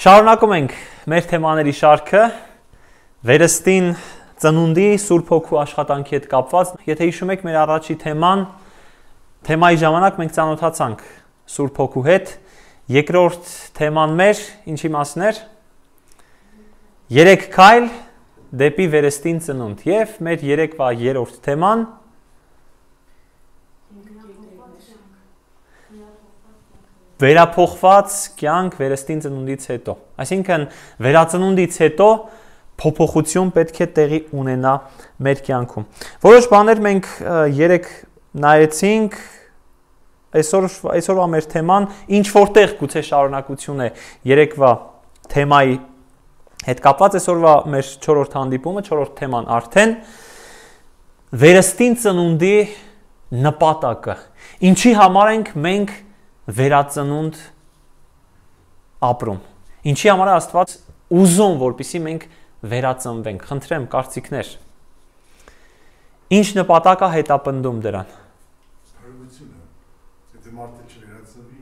Շարունակում ենք մեր թեմաների շարքը, վերստին ծնունդի Սուրբ Հոգու աշխատանքի հետ կապված, եթե հիշում եք մեր առաջի թեմայի ժամանակ մենք ծանոթացանք Սուրբ Հոգու հետ, երկրորդ թեման մեր ինչի մասն էր, 3 քայլ դեպի վերստին ծնունդ եւ մեր երեկվա երրորդ թեման վերափոխված կյանք վերստին ծնունդից հետո, այսինքն վերածնունդից հետո փոփոխություն պետք է տեղի ունենա մեր կյանքում։ Որոշ բաներ մենք երեք նայեցինք, այսօրվա մեր թեման ինչ որտեղ գուցե շարունակություն է երեկվա թեմայի հետ կապված, այսօրվա մեր 4-րդ հանդիպումը, 4-րդ թեման արդեն վերստին ծնունդի նպատակը։ Ինչի համար ենք մենք վերածնունդ ապրում։ Ինչի համար է Աստված ուզում, որպեսզի մենք վերածնվենք։ Խնդրեմ կարծիքներ։ Ինչ նպատակ է հետապնդում դրան։ Փրկությունը։ Եթե մարդը չվերածնվի,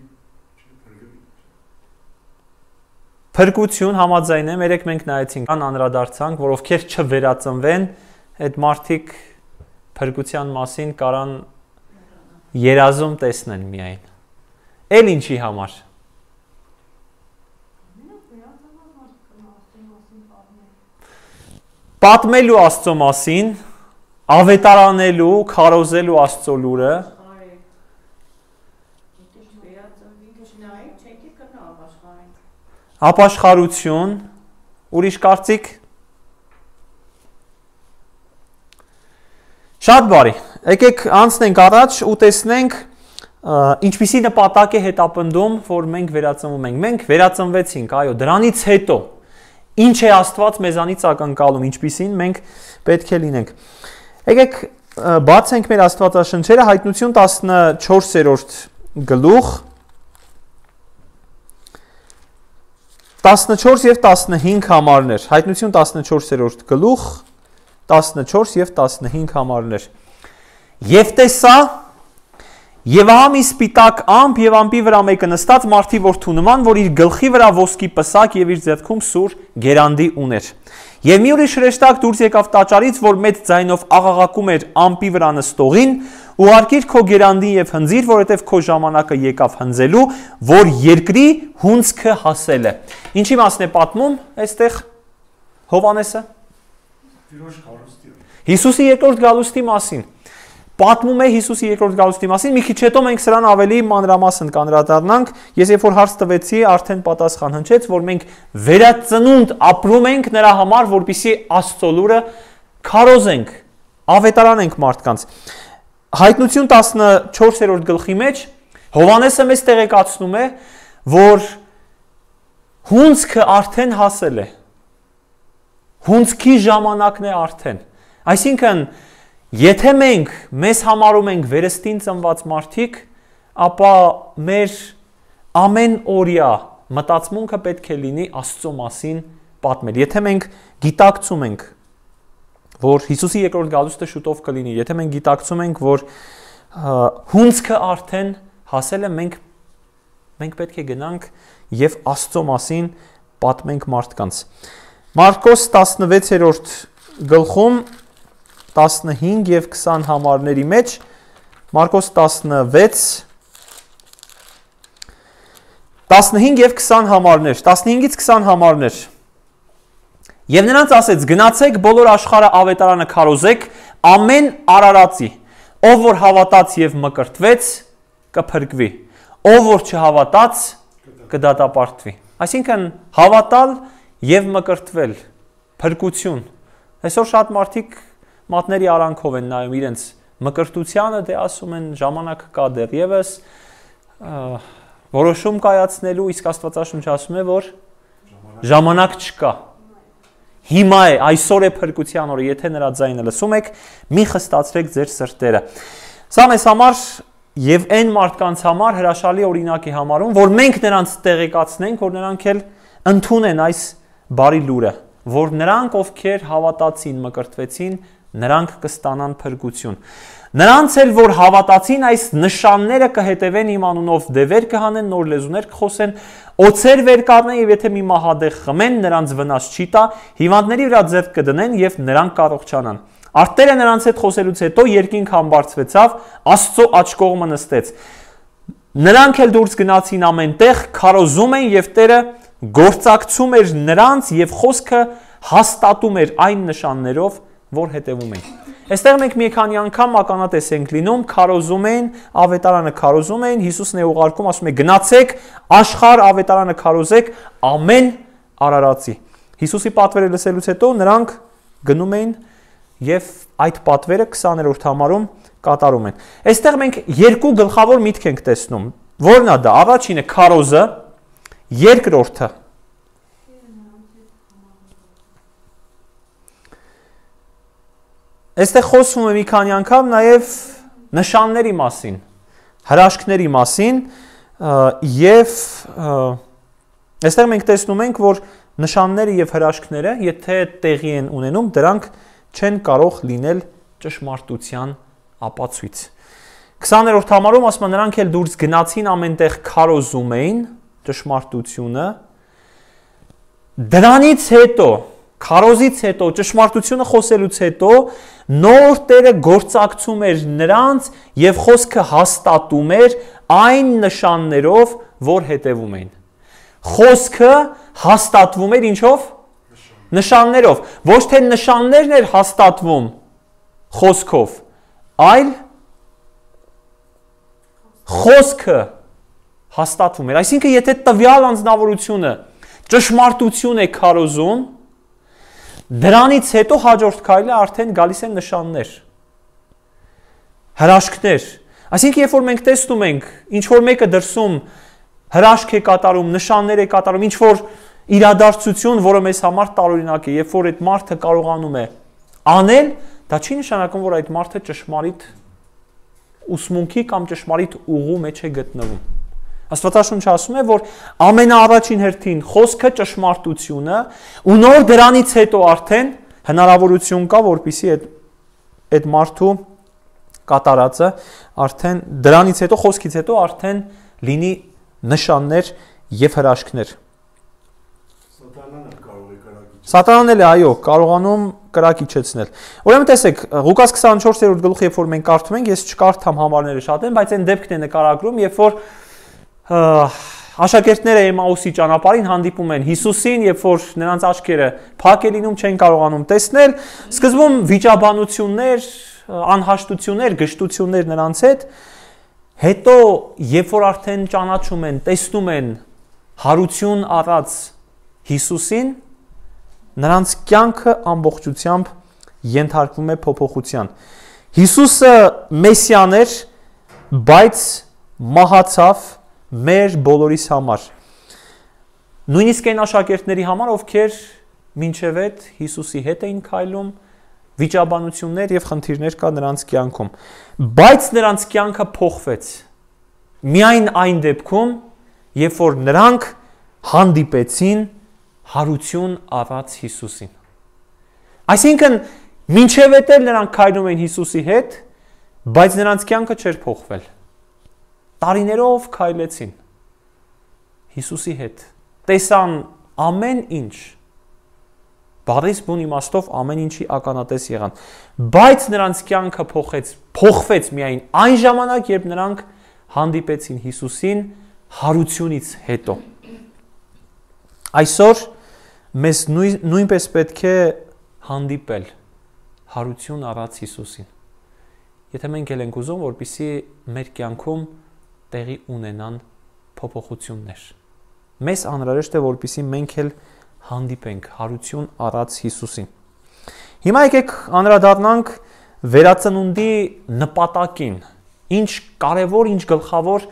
չփրկվի։ Փրկություն համաձայն եմ, երեք մենք նայեցինք, անդրադարձանք, որ ովքեր չվերածնվեն, այդ մարդիկ փրկության մասին կարան երազում տեսնեն միայն։ Էլ ինչի համար։ Պատմելու Աստծո մասին, ավետարանելու, քարոզելու Աստծո լուրը։ Ապաշխարություն, ուրիշ կարծիք։ Շատ բարի։ Եկեք անցնենք առաջ ու տեսնենք ինչպիսի նպատակ է հետապնդում, որ մենք վերածնվում ենք։ Մենք վերածնվեցինք, այո, դրանից հետո ինչ է Աստված մեզանից ակնկալում, ինչպիսին մենք պետք է լինենք։ Եկեք բացենք մեր Աստվածաշնչերը, Հայտնություն 14-րդ գլուխ 14 եւ 15 համարներ։ Հայտնություն 14-րդ գլուխ 14 եւ 15 համարներ։ Եվ տեսա Եվ ահա մի սպիտակ ամպ եւ ամպի վրա մեկը նստած մարդի որդու նման, որ իր գլխի վրա ոսկի պսակ եւ իր ձեռքում սուր գերանդի ուներ։ Եվ մի ուրիշ հրեշտակ դուրս եկավ տաճարից, որ մեծ ձայնով աղաղակում էր ամպի վրա նստողին, ուղարկիր քո գերանդին եւ հնձիր, որովհետեւ քո ժամանակը եկավ հնձելու, որ երկրի հունձքը հասել է։ Ինչի մասն է պատմում այստեղ Հովհաննեսը։ Հիսուսի երկրորդ գալուստի մասին։ Պատմում է Հիսուսի երկրորդ գալուստի մասին, մի քիչ հետո մենք սրան ավելի մանրամասն կանդրադառնանք, ես երբ որ հարց տվեցի, արդեն պատասխան հնչեց, որ մենք վերածնունդ ապրում ենք նրա համար, որպեսզի Աստծո լուրը քարոզենք, ավետարանենք մարդկանց։ Հայտնություն 14-րդ գլխի մեջ Հովհաննեսը մեզ տեղեկացնում է, որ հունձքը արդեն հասել է։ Հունձքի ժամանակն է արդեն։ Այսինքն Եթե մենք մեզ համարում ենք վերստին ծնված մարդիկ, ապա մեր ամեն օրյա մտածմունքը պետք է լինի Աստծո մասին պատմել։ Եթե մենք գիտակցում ենք, որ Հիսուսի երկրորդ գալուստը շուտով կլինի, եթե մենք գիտակցում ենք, որ հունձքը արդեն հասել է, մենք պետք է գնանք եւ Աստծո մասին պատմենք մարդկանց։ Մարկոս 16-րդ գլխում 15 եւ 20 համարների մեջ Մարկոս 15 եւ 20 համարներ, 15-ից 20 համարներ։ Եվ նրանց ասեց. գնացեք բոլոր աշխարհը ավետարանը քարոզեք ամեն արարածի, ով որ հավատաց եւ մկրտվեց, կփրկվի, ով որ չհավատաց, կդատապարտվի։ Այսինքն հավատալ եւ մկրտվել, փրկություն։ Այսօր շատ մարդիկ մատների արանքով են նայում իրենց մկրտությանը, դե ասում են ժամանակ կա դեռևս որոշում կայացնելու, իսկ Աստվածաշունչը ասում է, որ ժամանակ չկա։ Հիմա է, այսօր է փրկության օրը, եթե նրա ձայնը լսում եք, մի խստացրեք ձեր սրտերը։ Սա մեզ համար եւ այն մարդկանց համար հրաշալի օրինակ է համարում, որ մենք նրանց տեղեկացնենք, որ նրանք էլ ընդունեն այս բարի լուրը, որ նրանք ովքեր հավատացին, մկրտվեցին, նրանք կստանան փրկություն։ Նրանց էլ որ հավատացին այս նշանները կհետևեն իմ անունով դևեր կհանեն, նոր լեզուներ կխոսեն, օձեր վեր կառնեն եւ եթե մի մահադեղ խմեն, նրանց վնաս չի տա, հիվանդների վրա ձեռք կդնեն եւ նրանք կառողջանան։ Արտերը նրանց հետ խոսելուց հետո երկինք համբարձվեցավ, Աստծո աջ կողմը նստեց։ Նրանք էլ դուրս գնացին ամեն տեղ, քարոզում են եւ Տերը գործակցում էր նրանց եւ խոսքը հաստատում էր այն նշաններով, որ հետևում էին։ Այստեղ մենք մի քանի անգամ ականատես ենք լինում, քարոզում են, ավետարանը քարոզում են, Հիսուսն է ուղարկում, ասում է գնացեք, աշխարհ ավետարանը քարոզեք ամեն արարածի։ Հիսուսի պատվերը լսելուց հետո նրանք գնում էին եւ այդ պատվերը 20-րդ համարում կատարում են։ Այստեղ մենք երկու գլխավոր միտք ենք տեսնում։ Որն է դա։ Առաջինը քարոզը, երկրորդը Այստեղ խոսվում է մի քանի անգամ նաև նշանների մասին, հրաշքների մասին եւ այստեղ մենք տեսնում ենք, որ նշանները եւ հրաշքները, եթե տեղի են ունենում, դրանք չեն կարող լինել ճշմարտության ապացույց։ 20-րդ համարում ասում է նրանք էլ դուրս գնացին ամենտեղ քարոզում էին ճշմարտությունը։ Դրանից հետո քարոզից հետո, ճշմարտությունը խոսելուց հետո նոր Տերը գործակցում էր նրանց եւ խոսքը հաստատում էր այն նշաններով, որ հետևում էին։ Խոսքը հաստատվում էր ինչով։ Նշաններով։ Ոչ թե նշաններն էր հաստատվում խոսքով, այլ խոսքը հաստատվում էր։ Այսինքն, եթե տվյալ անձնավորությունը ճշմարտություն է քարոզում, դրանից հետո հաջորդ քայլը արդեն գալիս են նշաններ, հրաշքներ։ Այսինքն, երբ որ մենք տեսնում ենք, ինչ որ մեկը դրսում հրաշք է կատարում, նշաններ է կատարում, ինչ որ իրադարձություն, որը մեզ համար տարօրինակ է, երբ որ այդ մարդը կարողանում է անել, դա չի նշանակում, որ այդ մարդը ճշմարիտ ուսմունքի կամ ճշմարիտ ուղու մեջ է գտնվում։ Աստվածաշունչը ասում է, որ ամենաառաջին հերթին խոսքը ճշմարտությունը ու նոր դրանից հետո արդեն հնարավորություն կա, որպեսզի այդ մարդու կատարածը արդեն դրանից հետո խոսքից հետո արդեն լինի նշաններ եւ հրաշքներ։ Սատանան էլ է, այո, կարողանում կրակիչեցնել։ Ուրեմն տեսեք, Ղուկաս 24-րդ գլուխը, երբ որ մենք կարդում ենք, ես չկարդամ համարները շատ են, բայց այն դեպքն է նկարագրում, երբ որ աշակերտները Էմաուսի ճանապարհին հանդիպում են Հիսուսին, երբ որ նրանց աչքերը փակ է լինում, չեն կարողանում տեսնել, սկզբում վիճաբանություններ, անհաշտություններ, գժտություններ նրանց հետ, հետո երբ որ արդեն ճանաչում են, տեսնում են հարություն առած Հիսուսին, նրանց կյանքը ամբողջությամբ ենթարկվում է փոփոխության։ Հիսուսը Մեսիան էր, բայց մահացավ մեր բոլորիս համար։ Նույնիսկ այն աշակերտների համար, ովքեր մինչև այդ Հիսուսի հետ էին քայլում, վիճաբանություններ եւ խնդիրներ կա նրանց կյանքում, բայց նրանց կյանքը փոխվեց։ Միայն այն դեպքում, երբ որ նրանք հանդիպեցին հարություն առած Հիսուսին։ Այսինքն, մինչև այդ էլ նրանք քայլում էին Հիսուսի հետ, բայց նրանց կյանքը չէր փոխվել։ Տարիներով քայլեցին Հիսուսի հետ, տեսան ամեն ինչ, բառից բուն իմաստով ամեն ինչի ականատես եղան, բայց նրանց կյանքը փոխվեց միայն այն ժամանակ, երբ նրանք հանդիպեցին Հիսուսին հարությունից հետո։ Այսօր մեզ նույնպես պետք է հանդիպել հարություն առած Հիսուսին։ Եթե մենք էլ ենք ուզում, որպեսզի մեր կյանքում տեղի ունենան փոփոխություններ։ Մեզ անհրաժեշտ է, որպեսզի մենք էլ հանդիպենք հարություն առած Հիսուսին։ Հիմա եկեք անդրադառնանք վերածնունդի նպատակին։ Ինչ կարևոր, ինչ գլխավոր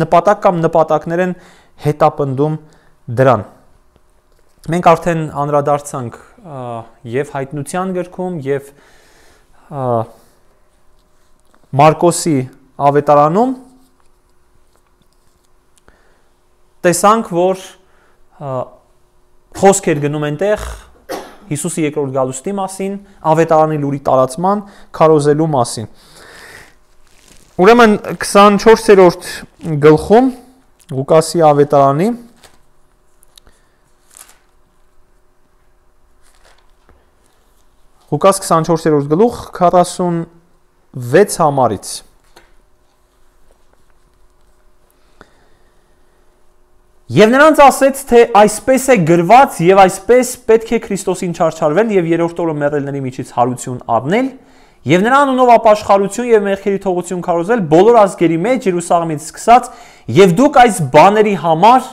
նպատակ կամ նպատակներ են հետապնդում դրան։ Մենք արդեն անդրադարձանք եւ հայտնության գրքում եւ Մարկոսի ավետարանում տեսանք, որ խոսք էր գնում այնտեղ Հիսուսի երկրորդ գալուստի մասին, ավետարանի լուրի տարածման, քարոզելու մասին։ Ուրեմն 24-րդ գլխում Ղուկասի ավետարանի Ղուկաս 24-րդ գլուխ 46 համարից Եվ նրանց ասեց, թե այսպես է գրված եւ այսպես պետք է Քրիստոսին չարչարվել եւ երրորդ օրը մեռելների միջից հարություն առնել եւ նրա անունով ապաշխարություն եւ մեղքերի թողություն քարոզել բոլոր ազգերի մեջ Երուսաղեմից սկսած եւ դուք այս բաների համար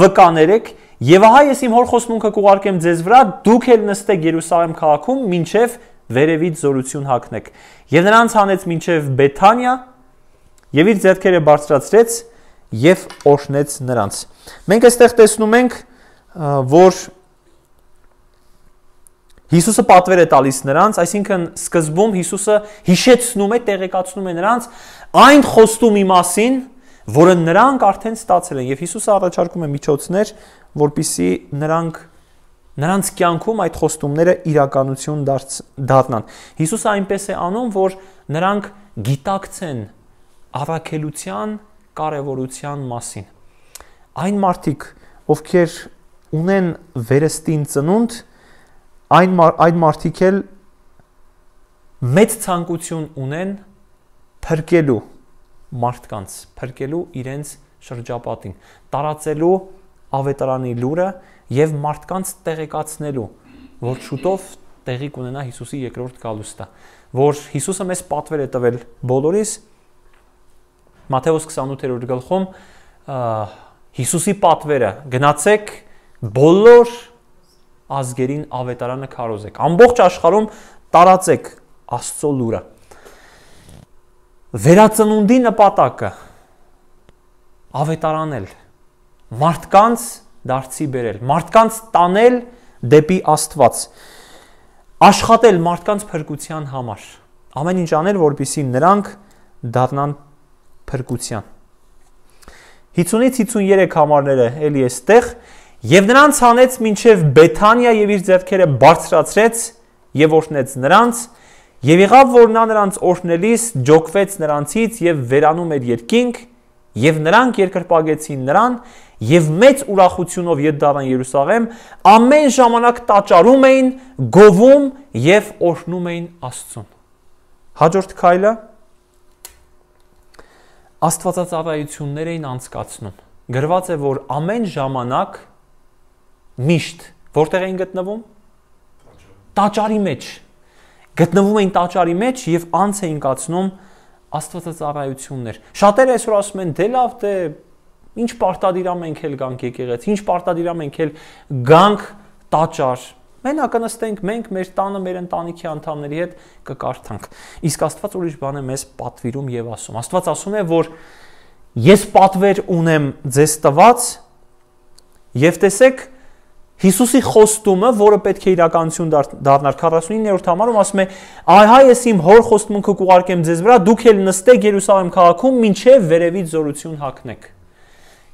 վկաներեք եւ ահա ես իմ հոր խոստմունքը կուղարկեմ ձեզ վրա դուք էլ նստեք Երուսաղեմ քաղաքում մինչեւ վերևից զորություն հագնեք եւ նրանց հանեց մինչեւ Բեթանիա եւ իր ձեռքերը բարձրացրեց եւ օրհնեց նրանց։ Մենք այստեղ տեսնում ենք, որ Հիսուսը պատվեր է տալիս նրանց, այսինքն սկզբում Հիսուսը հիշեցնում է, տեղեկացնում է նրանց այն խոստումի մասին, որը նրանք արդեն ստացել են, եւ Հիսուսը առաջարկում է միջոցներ, որպիսի նրանց կյանքում այդ խոստումները իրականություն դառնան։ Հիսուսը այնպես է անում, որ նրանք գիտակցեն առաքելության կարևորության մասին։ Այն մարդիկ, ովքեր ունեն վերստին ծնունդ, այդ մարդիկ էլ մեծ ցանկություն ունեն փրկելու մարդկանց, փրկելու իրենց շրջապատին, տարածելու ավետարանի լուրը եւ մարդկանց տեղեկացնելու, որ շուտով տեղի կունենա Հիսուսի երկրորդ գալուստը, որ Հիսուսը մեզ պատվեր է տվել բոլորիս Մատթեոս 28-րդ գլխում Հիսուսի պատվերը գնացեք բոլոր ազգերին ավետարանը քարոզեք ամբողջ աշխարհում տարածեք Աստծո լուրը վերածնունդի նպատակը ավետարանել մարդկանց դարձի բերել մարդկանց տանել դեպի Աստված աշխատել մարդկանց փրկության համար ամեն ինչ անել որպեսզի նրանք դառնան փրկության 50-ից 53 համարները էլի էստեղ եւ նրանց հանեց մինչեւ Բեթանիա եւ իր ձեռքերը բարձրացրեց եւ օրհնեց նրանց եւ եղավ որ նա նրանց օրհնելիս ջոկվեց նրանցից եւ վերանում էր երկինք եւ նրանք երկրպագեցին նրան եւ մեծ ուրախությունով ետ դառան Երուսաղեմ ամեն ժամանակ տաճարում էին գովում եւ օրհնում էին Աստծուն հաջորդ քայլը Աստվածածառայություններ էին անցկացնում։ Գրված է, որ ամեն ժամանակ միշտ որտեղ էին գտնվում? Տաճարի մեջ։ Գտնվում էին տաճարի մեջ եւ անց էին կացնում աստվածածառայություններ։ Շատերը այսօր ասում են, դե լավ, դե ինչ պարտադիրամ ենք էլ գանք եկեղեցի, ինչ պարտադիրամ ենք էլ գանք տաճար։ Մենակ կնստենք մենք մեր տանը մեր ընտանիքի անդամների հետ կկարդանք։ Իսկ Աստված ուրիշ բան է մեզ պատվիրում եւ ասում։ Աստված ասում է, որ ես պատվեր ունեմ ձեզ տված եւ տեսեք Հիսուսի խոստումը, որը պետք է իրականություն դառնար 49-րդ համարում ասում է. «Ահա ես իմ հոր խոստմունքը կուղարկեմ ձեզ վրա, դուք էլ նստեք Երուսաղեմ քաղաքում, մինչեւ վերևից զորություն հագնեք»։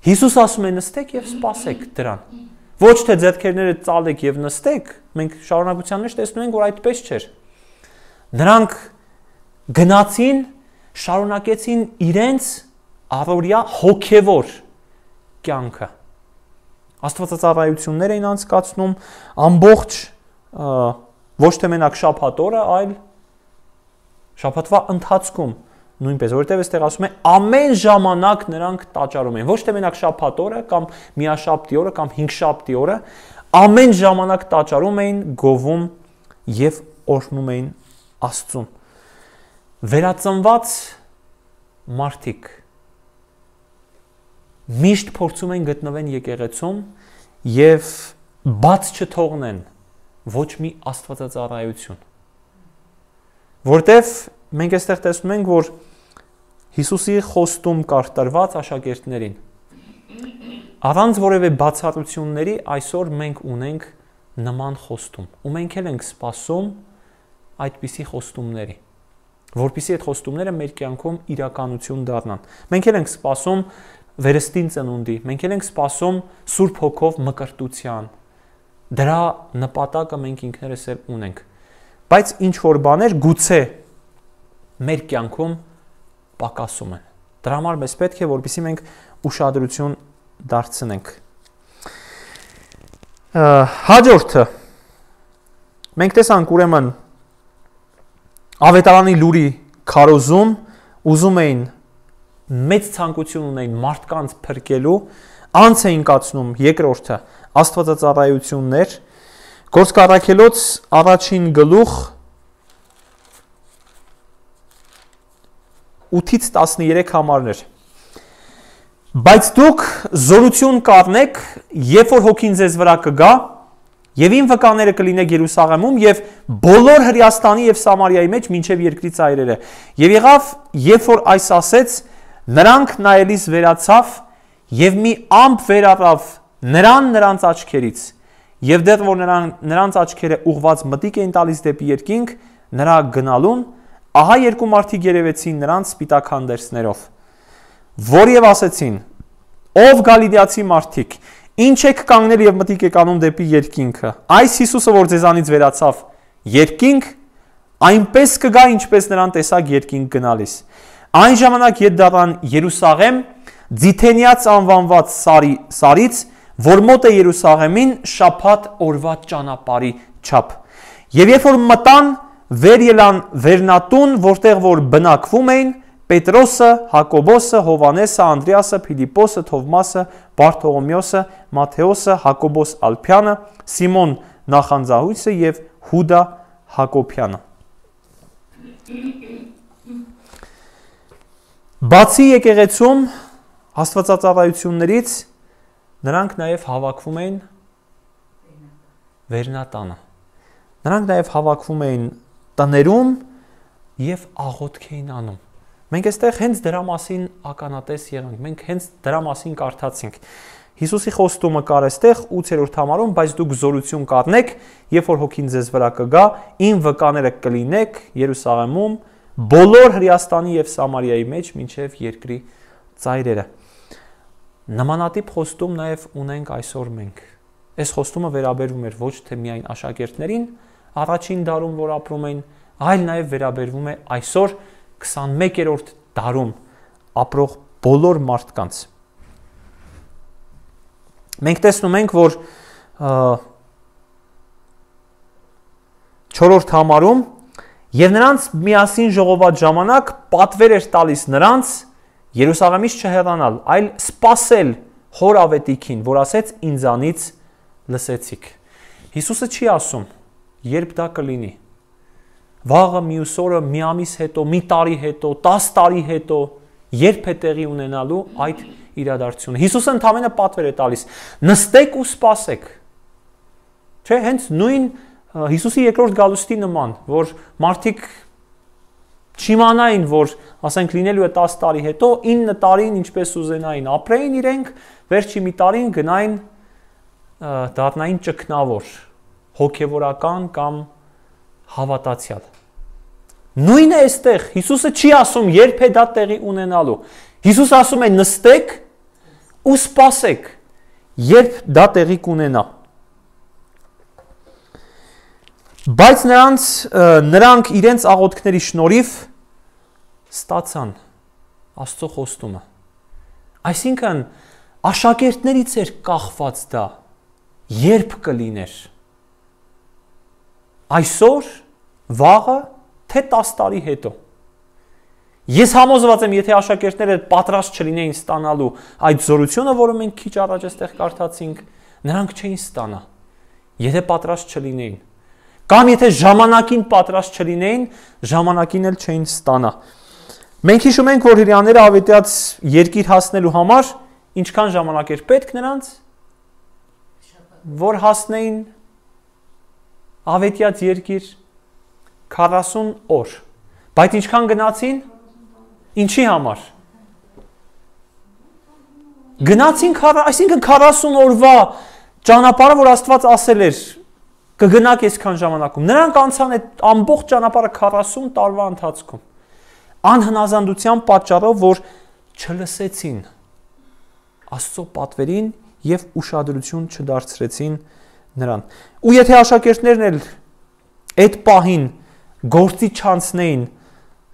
Հիսուս ասում է նստեք եւ սպասեք դրան։ Ոչ թե ձեռքերները ծալեք եւ նստեք, մենք շարունակության մեջ տեսնում ենք, որ այդպես չէր։ Նրանք գնացին, շարունակեցին իրենց առօրյա հոգևոր կյանքը։ Աստվածածառայություններ էին անցկացնում ամբողջ ոչ թե մենակ շաբաթ օրը, այլ շաբաթվա ընթացքում նույնպես, որովհետև այստեղ ասում է ամեն ժամանակ նրանք տաճարում էին, ոչ թե մենակ շաբաթ օրը կամ միաշաբթի օրը կամ հինգշաբթի օրը, ամեն ժամանակ տաճարում էին, գովում եւ օրհնում էին Աստծուն։ Վերածնված մարդիկ միշտ փորձում են գտնվեն եկեղեցում եւ բաց չթողնեն ոչ մի աստվածածառայություն։ Որտեւ մենք այստեղ տեսնում ենք, որ Հիսուսի խոստում կար տրված աշակերտներին։ Առանց որևէ բացառությունների այսօր մենք ունենք նման խոստում, ու մենք էլ ենք սպասում այդպիսի խոստումների, որպեսզի այդ խոստումները մեր կյանքում իրականություն դառնան։ Մենք էլ ենք սպասում վերստին ծնունդի, մենք էլ ենք սպասում Սուրբ Հոգով մկրտության, Դրա նպատակը մենք ինքներս էլ ունենք։ Բայց ինչ որ բաներ գուցե մեր կյանքում պակասում են։ Դրա համար մեզ պետք է որպեսզի մենք ուշադրություն դարձնենք։ Հաջորդը մենք տեսանք ուրեմն ավետարանի լուրի քարոզում ուզում էին մեծ ցանկություն ունեին մարդկանց փրկելու, անց էին կացնում երկրորդը աստվածածառայություններ, Գործք առաքելոց առաջին գլուխ 8-ից 13 համարներ։ Բայց դուք զորություն կառնեք, երբ որ հոգին ձեզ վրա կգա, եւ իմ վկաները կլինեք Երուսաղեմում եւ բոլոր Հրեաստանի եւ Սամարիայի մեջ մինչեւ երկրի ծայրերը։ Եվ եղավ, երբ որ այս ասեց, նրանք նայելիս վերացավ եւ մի ամպ վերառավ նրանց աչքերից։ Եվ դեռ որ նրանց աչքերը ուղված մտիկ էին տալիս դեպի երկինք, նրա գնալուն, ահա երկու մարդիկ երևեցին նրանց սպիտակ հանդերձներով, որ եւ ասեցին. Ով Գալիլեացի մարդիկ, ինչ եք կանգնել եւ մտիկ եք անում դեպի երկինքը։ Այս Հիսուսը, որ ձեզանից վերացավ երկինք, այնպես կգա, ինչպես նրան տեսակ երկինք գնալիս։ Այն ժամանակ ետ դառան Երուսաղեմ, Ձիթենիաց անվանված սարից, որ մոտ է Երուսաղեմին շաբաթ օրվա ճանապարհի չափ։ Եվ երբ որ մտան, վեր ելան վերնատուն, որտեղ որ բնակվում էին Պետրոսը, Հակոբոսը, Հովանեսը, Անդրեասը, Փիլիպոսը, Թովմասը, Բարթողոմեոսը, Մատթեոսը, Հակոբոս Ալփյանը, Սիմոն Նախանձահույսը եւ Հուդա Հակոբյանը։ Բացի եկեղեցում աստվածածառայություններից նրանք նաև հավաքվում էին վերնատանը։ Նրանք նաև հավաքվում էին տներում եւ աղոթք էին անում։ Մենք այստեղ հենց դրա մասին ականատես եղանք, մենք հենց դրա մասին կարդացինք։ Հիսուսի խոստումը կար այստեղ 8-րդ համարում, բայց դուք զորություն կառնեք, երբ որ հոգին ձեզ վրա կգա, իմ վկաները կլինեք Երուսաղեմում, բոլոր Հրեաստանի եւ Սամարիայի մեջ մինչեւ երկրի ծայրերը։ Նմանատիպ խոստում նաև ունենք այսօր մենք։ Այս խոստումը վերաբերվում էր ոչ թե միայն աշակերտներին, առաջին դարում որ ապրում էին, այլ նաև վերաբերվում է այսօր 21-րդ դարում ապրող բոլոր մարդկանց։ Մենք տեսնում ենք, որ 4-րդ համարում եւ նրանց միասին ժողոված ժամանակ պատվեր էր տալիս նրանց Երուսաղեմից չհեռանալ, այլ սպասել հոր ավետիքին, որ ասեց ինձանից լսեցիք։ Հիսուսը չի ասում, երբ դա կլինի։ Վաղը, մյուս օրը, մի ամիս հետո, մի տարի հետո, 10 տարի հետո, երբ է տեղի ունենալու այդ իրադարձությունը։ Հիսուսը ընդամենը պատվեր է տալիս. նստեք ու սպասեք։ Չէ, հենց նույն Հիսուսի երկրորդ գալուստի նման, որ մարդիկ չիմանային, որ ասենք լինելու է 10 տարի հետո, 9 տարին ինչպես ուզենային ապրեին իրենք, վերջի մի տարին գնային դառնային ճգնավոր, հոգևորական կամ հավատացյալ։ Նույնը է այստեղ, Հիսուսը չի ասում, երբ է դա տեղի ունենալու։ Հիսուսը ասում է նստեք ու սպասեք, երբ դա տեղի կունենա։ Բայց նրանք իրենց աղոթքների շնորհիվ ստացան Աստծո խոստումը։ Այսինքն աշակերտներից էր կախված դա, երբ կլիներ։ Այսօր, վաղը, թե 10 տարի հետո։ Ես համոզված եմ, եթե աշակերտները պատրաստ չլինեին ստանալու այդ զորությունը, որը մենք քիչ առաջ այստեղ կարդացինք, նրանք չէին ստանա, եթե պատրաստ չլինեին։ Կամ եթե ժամանակին պատրաստ չլինեին, ժամանակին էլ չէին ստանա։ Մենք հիշում ենք, որ հրեաները ավետյաց երկիր հասնելու համար ինչքան ժամանակ էր պետք նրանց, որ հասնեին ավետյաց երկիր 40 օր։ Բայց ինչքան գնացին, ինչի համար։ Գնացին, այսինքն 40 օրվա ճանապարհը, որ Աստված ասել էր, կգնաք այսքան ժամանակում։ Նրանք անցան այդ ամբողջ ճանապարհը 40 տարվա ընթացքում։ Անհնազանդության պատճառով, որ չլսեցին Աստծո պատվերին եւ ուշադրություն չդարձրեցին նրան։ Ու եթե աշակերտներն էլ այդ պահին գործի չանցնեին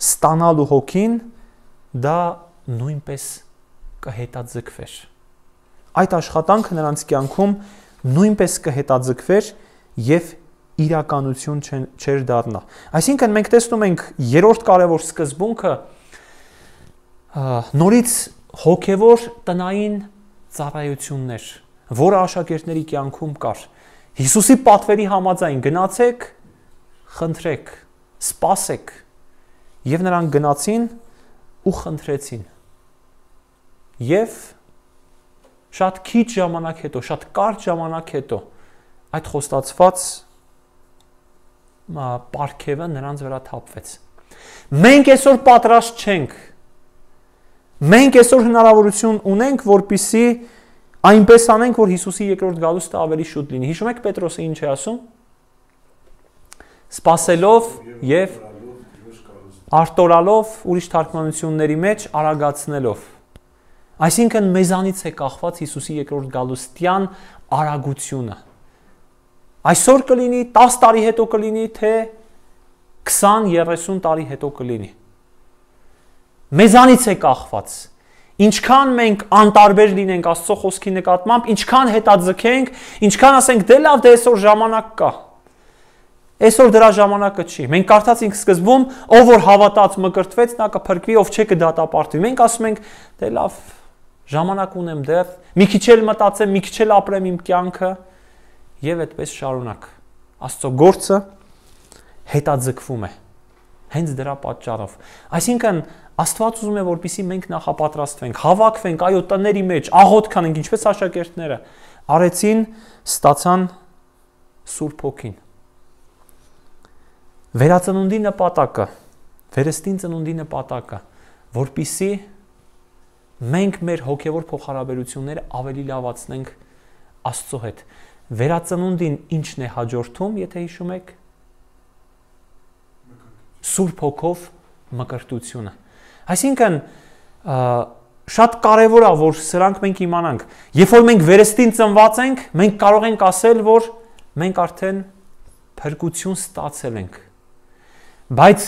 ստանալու հոգին, դա նույնպես կհետաձգվեր։ Այդ աշխատանքը նրանց կյանքում նույնպես կհետաձգվեր եւ իրականություն չէր դառնա։ Այսինքն մենք տեսնում ենք երրորդ կարևոր սկզբունքը նորից հոգևոր տնային ծառայություններ, որը աշակերտների կյանքում կար։ Հիսուսի պատվերի համաձայն գնացեք, խնդրեք, սպասեք, եւ նրանք գնացին ու խնդրեցին։ Եվ շատ քիչ ժամանակ հետո, շատ կարճ ժամանակ հետո այդ խոստացված պարգևը նրանց վրա թափվեց։ Մենք այսօր պատրաստ չենք։ Մենք այսօր հնարավորություն ունենք, որպեսզի այնպես անենք, որ Հիսուսի երկրորդ գալուստը ավելի շուտ լինի։ Հիշում եք Պետրոսը ինչ է ասում։ Սպասելով եւ արտորալով, ուրիշ թարգմանությունների մեջ արագացնելով։ Այսինքն մեզանից է կախված Հիսուսի երկրորդ գալուստյան արագությունը։ Այսօր կլինի, 10 տարի հետո կլինի, թե 20-30 տարի հետո կլինի։ Մեզանից է կախված։ Ինչքան մենք անտարբեր լինենք Աստծո խոսքի նկատմամբ, ինչքան հետաձգենք, ինչքան ասենք դե լավ, դե այսօր ժամանակ կա։ Այսօր դրա ժամանակը չի։ Մենք կարդացինք սկզբում, ով որ հավատաց մկրտվեց, նա կփրկվի, ով չէ կդատապարտվի։ Մենք ասում ենք, դե լավ, ժամանակ ունեմ դեռ, մի քիչ էլ մտածեմ, մի քիչ էլ ապրեմ իմ կյանքը, եւ այդպես շարունակ։ Աստծո գործը հետաձգվում է հենց դրա պատճառով։ Այսինքն Աստված ուզում է, որպեսզի մենք նախապատրաստվենք, հավաքվենք, այո, տների մեջ, աղոթք անենք, ինչպես աշակերտները արեցին, ստացան Սուրբ Հոգին։ Վերածնունդի նպատակը, վերստին ծնունդի նպատակը, որպեսզի մենք մեր հոգևոր փոխհարաբերությունները ավելի լավացնենք Աստծո հետ։ Վերածնունդին ինչն է հաջորդում, եթե հիշում եք, Սուրբ Հոգով մկրտությունը։ Այսինքն շատ կարևոր է, որ սրանք մենք իմանանք։ Երբ որ մենք վերստին ծնված ենք, մենք կարող ենք ասել, որ մենք արդեն փրկություն ստացել ենք։ Բայց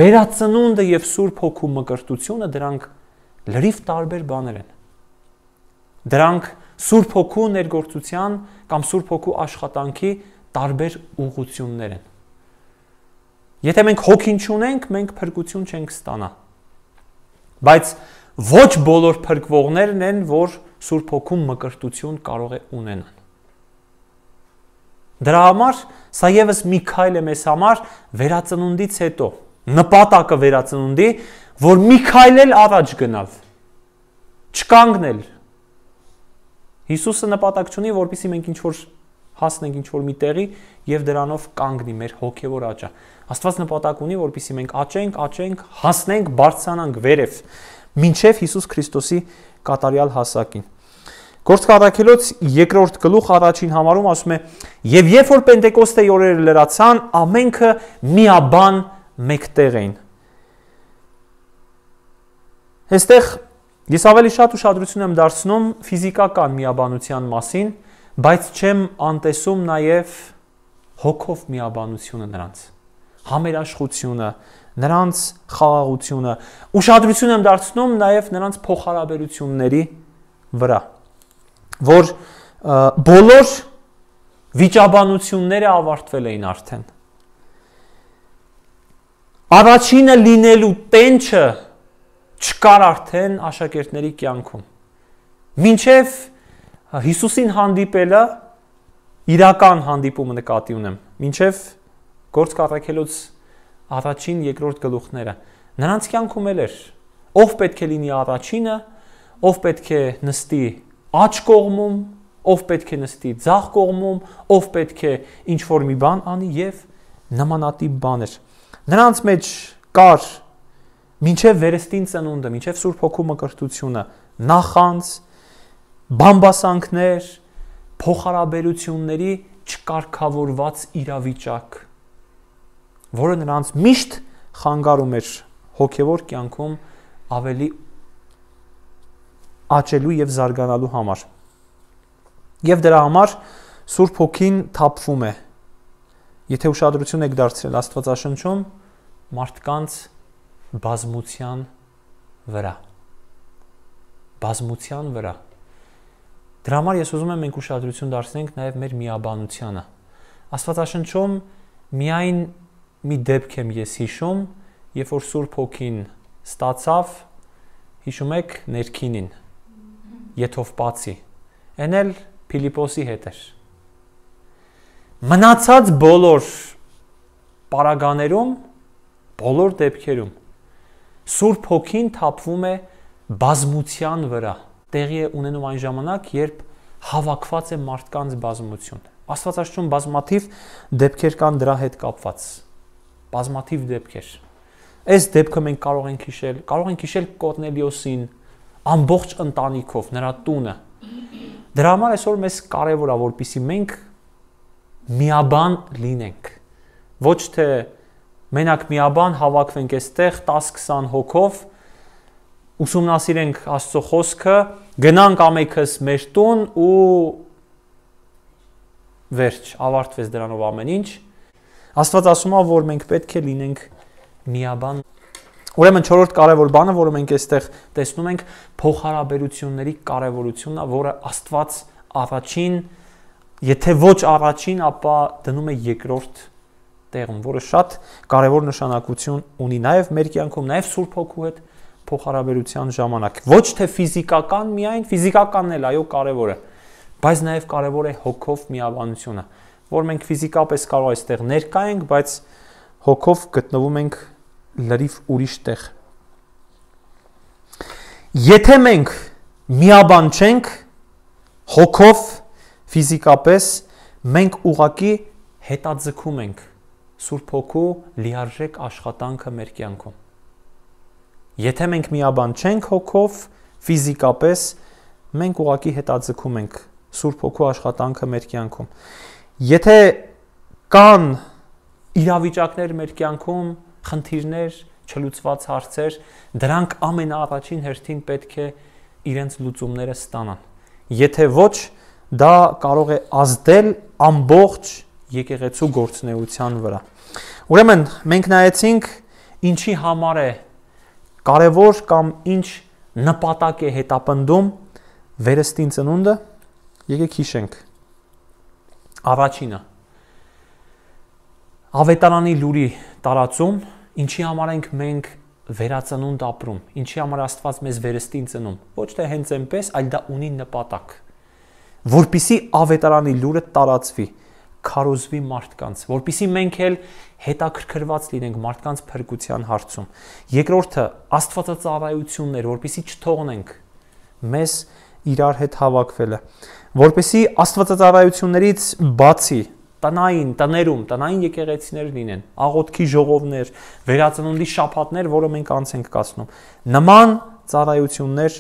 վերածնունդը եւ Սուրբ Հոգու մկրտությունը դրանք լրիվ տարբեր բաներ են։ Դրանք Սուրբ Հոգու ներգործության կամ Սուրբ Հոգու աշխատանքի տարբեր ուղղություններ են։ Եթե մենք հոգին չունենք, մենք փրկություն չենք ստանա։ Բայց ոչ բոլոր փրկվողներն են, որ Սուրբ Հոգու մկրտություն կարող է ունենան։ Դրա համար սա եւս մի քայլ է մեզ համար վերածնունդից հետո, նպատակը վերածնունդի, որ մի քայլ էլ առաջ գնալ, չկանգնել։ Հիսուսը նպատակ չունի, որպեսզի մենք ինչ-որ հասնենք ինչ-որ մի տեղի եւ դրանով կանգնի մեր հոգեվոր աճը։ Աստված նպատակ ունի, որպեսզի մենք աճենք, հասնենք, բարձրանանք վերև, մինչև Հիսուս Քրիստոսի կատարյալ հասակին։ Գործք առաքելոց 2-րդ գլուխ 1-ին համարում ասում է. «Եվ երբ որ Պենտեկոստեի օրերը լրացան, ամենքը միաբան մեկտեղ էին»։ Այստեղ ես ավելի շատ ուշադրություն եմ դարձնում ֆիզիկական միաբանության մասին, բայց չեմ անտեսում նաև հոգով միաբանությունը նրանց, համերաշխությունը, նրանց խաղաղությունը, ուշադրություն եմ դարձնում նաև նրանց փոխհարաբերությունների վրա, որ բոլոր վիճաբանությունները ավարտվել էին արդեն։ Առաջինը լինելու տենչը չկար արդեն աշակերտների կյանքում։ Մինչև Հիսուսին հանդիպելը, իրական հանդիպումը նկատի ունեմ, մինչև Գործք առաքելոց 1, 2 գլուխները, նրանց կյանքում էլ էր, ով պետք է լինի առաջինը, ով պետք է նստի աջ կողմում, ով պետք է նստի ձախ կողմում, ով պետք է ինչ-որ մի բան անի եւ նմանատիպ բաներ։ Նրանց մեջ կար մինչև վերստին ծնունդը, մինչև Սուրբ Հոգու մկրտությունը, նախանց, բամբասանքներ, փոխհարաբերությունների չկարգավորված իրավիճակ, որը նրանց միշտ խանգարում էր հոգևոր կյանքում ավելի աճելու եւ զարգանալու համար։ Եվ դրա համար Սուրբ Հոգին թափվում է։ Եթե ուշադրություն եք դարձրել Աստվածաշնչում, մարդկանց բազմության վրա։ Բազմության վրա։ Դրա համար ես ուզում եմ մենք ուշադրություն դարձնենք նաև մեր միաբանությանը։ Աստվածաշնչում միայն մի դեպք եմ ես հիշում, երբ որ Սուրբ Հոգին ստացավ, հիշում եք ներքինին, Եթովպացի, այն էլ Փիլիպոսի հետ էր։ Մնացած բոլոր պարագաներում, բոլոր դեպքերում Սուրբ Հոգին թափվում է բազմության վրա, տեղի է ունենում այն ժամանակ, երբ հավաքված է մարդկանց բազմություն։ Աստվածաշնչում բազմաթիվ դեպքեր կան դրա հետ կապված։ Բազմաթիվ դեպքեր։ Այս դեպքը մենք կարող ենք հիշել Կորնելիոսին ամբողջ ընտանիքով, նրա տունը։ Դրա համար այսօր մեզ կարևոր է, որպեսզի մենք միաբան լինենք։ Ոչ թե մենակ միաբան հավաքվենք այստեղ 10-20 հոգով, ուսումնասիրենք Աստծո խոսքը, գնանք ամենքս մեր տուն ու վերջ, ավարտվեց դրանով ամեն ինչ։ Աստված ասում է, որ մենք պետք է լինենք միաբան։ Ուրեմն չորրորդ կարևոր բանը, որը մենք այստեղ տեսնում ենք, փոխհարաբերությունների կարևորությունն է, որը Աստված առաջին, եթե ոչ առաջին, ապա դնում է երկրորդ տեղում, որը շատ կարևոր նշանակություն ունի նաև մեր կյանքում, նաև Սուրբ Հոգու հետ փոխհարաբերության ժամանակ։ Ոչ թե ֆիզիկական միայն, ֆիզիկականն էլ այո կարևոր է, բայց նաև կարևոր է հոգով միաբանությունը, որ մենք ֆիզիկապես կարող այստեղ ներկա ենք, բայց հոգով գտնվում ենք լրիվ ուրիշ տեղ։ Եթե մենք միաբան չենք հոգով, ֆիզիկապես, մենք ուղղակի հետաձգում ենք Սուրբ Հոգու լիարժեք աշխատանքը մեր կյանքում։ Եթե մենք միաբան չենք հոգով, ֆիզիկապես, մենք ուղղակի հետաձգում ենք Սուրբ Հոգու աշխատանքը մեր կյանքում։ Եթե կան իրավիճակներ մեր կյանքում, խնդիրներ, չլուծված հարցեր, դրանք ամենաառաջին հերթին պետք է իրենց լուծումները ստանան։ Եթե ոչ, դա կարող է ազդել ամբողջ եկեղեցու գործունեության վրա։ Ուրեմն մենք նայեցինք ինչի համար է կարևոր կամ ինչ նպատակ է հետապնդում վերստին ծնունդը, եկեք հիշենք։ Առաջինը Ավետարանի լուրի տարածում, ինչի համար ենք մենք վերածնունդ ապրում, ինչի համար Աստված մեզ վերստին ծնում, ոչ թե հենց այնպես, այլ դա ունի նպատակ, որպիսի Ավետարանի լուրը տարածվի, քարոզվի մարդկանց, որպիսի մենք էլ հետաքրքրված լինենք մարդկանց փրկության հարցում։ Երկրորդը աստվածածառայություններ, որպիսի չթողնենք մեզ իրար հետ հավաքվելը, որպիսի աստվածածառայություններից բացի տնային, տներում, տնային եկեղեցիներ լինեն, աղոթքի ժողովներ, վերածնունդի շաբաթներ, որը մենք անց ենք կացնում։ Նման ծառայություններ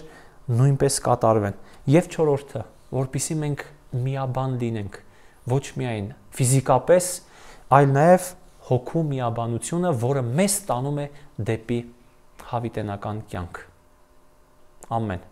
նույնպես կատարվեն։ Եվ չորրորդը, որպիսի մենք միաբան լինենք, ոչ միայն ֆիզիկապես, այլ նաև հոգու միաբանությունը, որը մեզ տանում է դեպի հավիտենական կյանք։ Ամեն։